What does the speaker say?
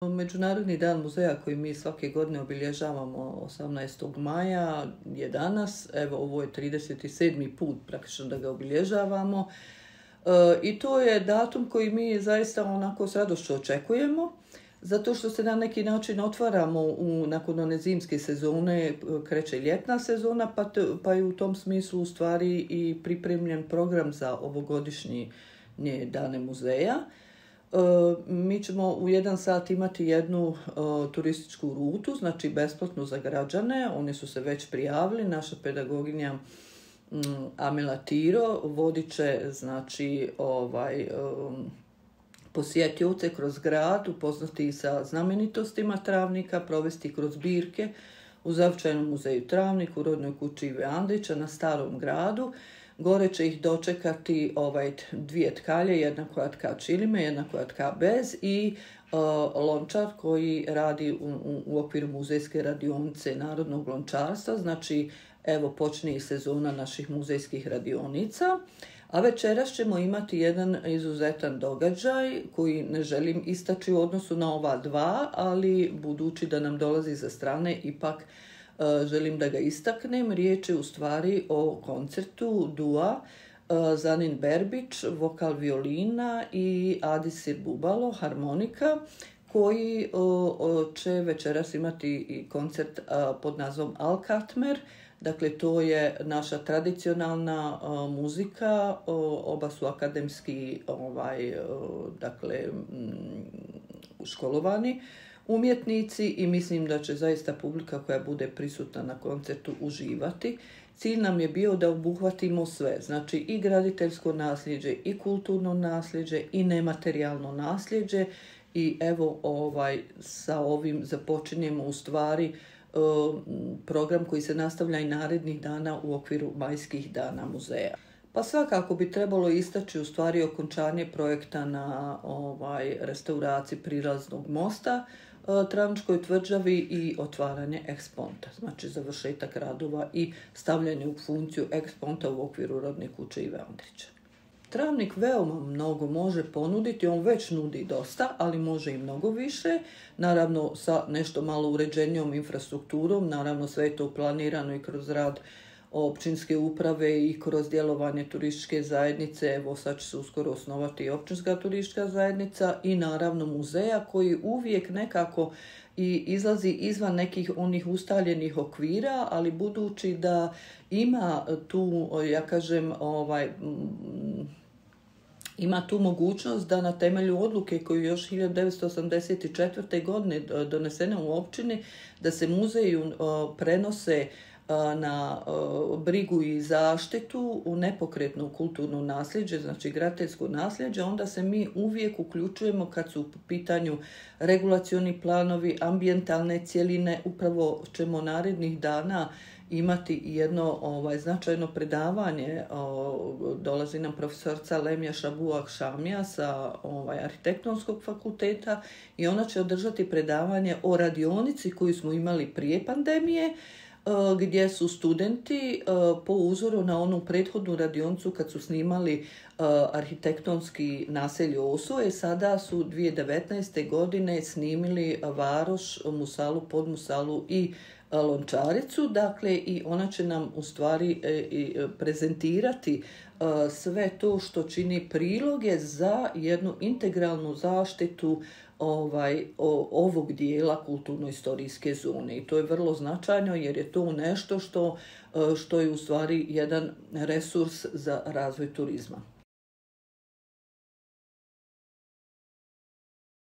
Međunarodni dan muzeja koji mi svake godine obilježavamo 18. maja je danas. Evo, ovo je 37. put praktično da ga obilježavamo. I to je datum koji mi zaista onako s radošću očekujemo, zato što se na neki način otvaramo nakon one zimske sezone, kreće ljetna sezona, pa je u tom smislu u stvari i pripremljen program za ovogodišnje dane muzeja. Mi ćemo u 1 sat imati jednu turističku rutu, znači besplatnu za građane. Oni su se već prijavili. Naša pedagoginja Amela Tiro vodit će znači posjetioce kroz grad, upoznati i sa znamenitostima Travnika, provesti kroz zbirke u Zavičajnom muzeju Travnik, u Rodnoj kući Ive Andrića na Starom gradu. Gore će ih dočekati 2 tkalje, jedna koja tka čilime, jedna koja tka bez i lončar koji radi u okviru muzejske radionice narodnog lončarstva. Znači, evo, počne i sezona naših muzejskih radionica. A večeras ćemo imati jedan izuzetan događaj koji ne želim istaći u odnosu na ova dva, ali budući da nam dolazi za strane, ipak želim da ga istaknem. Riječ je u stvari o koncertu dua Zanin Berbić, vokal violina i Adisir Bubalo, harmonika, koji će večeras imati i koncert pod nazvom Al Katmer. Dakle, to je naša tradicionalna muzika, oba su akademski školovani umjetnici i mislim da će zaista publika koja bude prisutna na koncertu uživati. Cilj nam je bio da obuhvatimo sve, znači i graditeljsko nasljeđe, i kulturno nasljeđe, i nematerijalno nasljeđe i evo sa ovim započinjemo u stvari program koji se nastavlja i narednih dana u okviru majskih dana muzeja. Pa svakako bi trebalo istaći u stvari okončanje projekta na restauraciji prilaznog mosta Travničkoj tvrđavi i otvaranje eksponta, znači završetak radova i stavljanje u funkciju eksponta u okviru Rodne kuće Ive Andrića. Travnik veoma mnogo može ponuditi, on već nudi dosta, ali može i mnogo više, naravno sa nešto malo uređenijom infrastrukturom, naravno sve je to planirano i kroz rad općinske uprave i kroz djelovanje turističke zajednice. Evo sad će se uskoro osnovati i općinska turistička zajednica i naravno muzeja koji uvijek nekako i izlazi izvan nekih onih ustaljenih okvira, ali budući da ima tu, ja kažem, ima tu mogućnost da na temelju odluke koju još 1984. godine donesene u općini, da se muzeju prenose na brigu i zaštitu u nepokretno kulturno nasljeđe, znači graditeljsko nasljeđe, onda se mi uvijek uključujemo kad su u pitanju regulacioni planovi, ambijentalne cjeline. Upravo ćemo narednih dana imati jedno značajno predavanje. Dolazi nam profesorca Lemja Šabuak Šamija sa arhitektonskog fakulteta i ona će održati predavanje o radionici koju smo imali prije pandemije, gdje su studenti po uzoru na onu prethodnu radionicu kad su snimali arhitektonski naselje Osuje, sada su 2019. godine snimili Varoš, Musalu, Podmusalu i Lončaricu. Dakle, i ona će nam u stvari prezentirati sve to što čini priloge za jednu integralnu zaštitu ovog dijela kulturno-istorijske zone. I to je vrlo značajno jer je to nešto što je u stvari jedan resurs za razvoj turizma.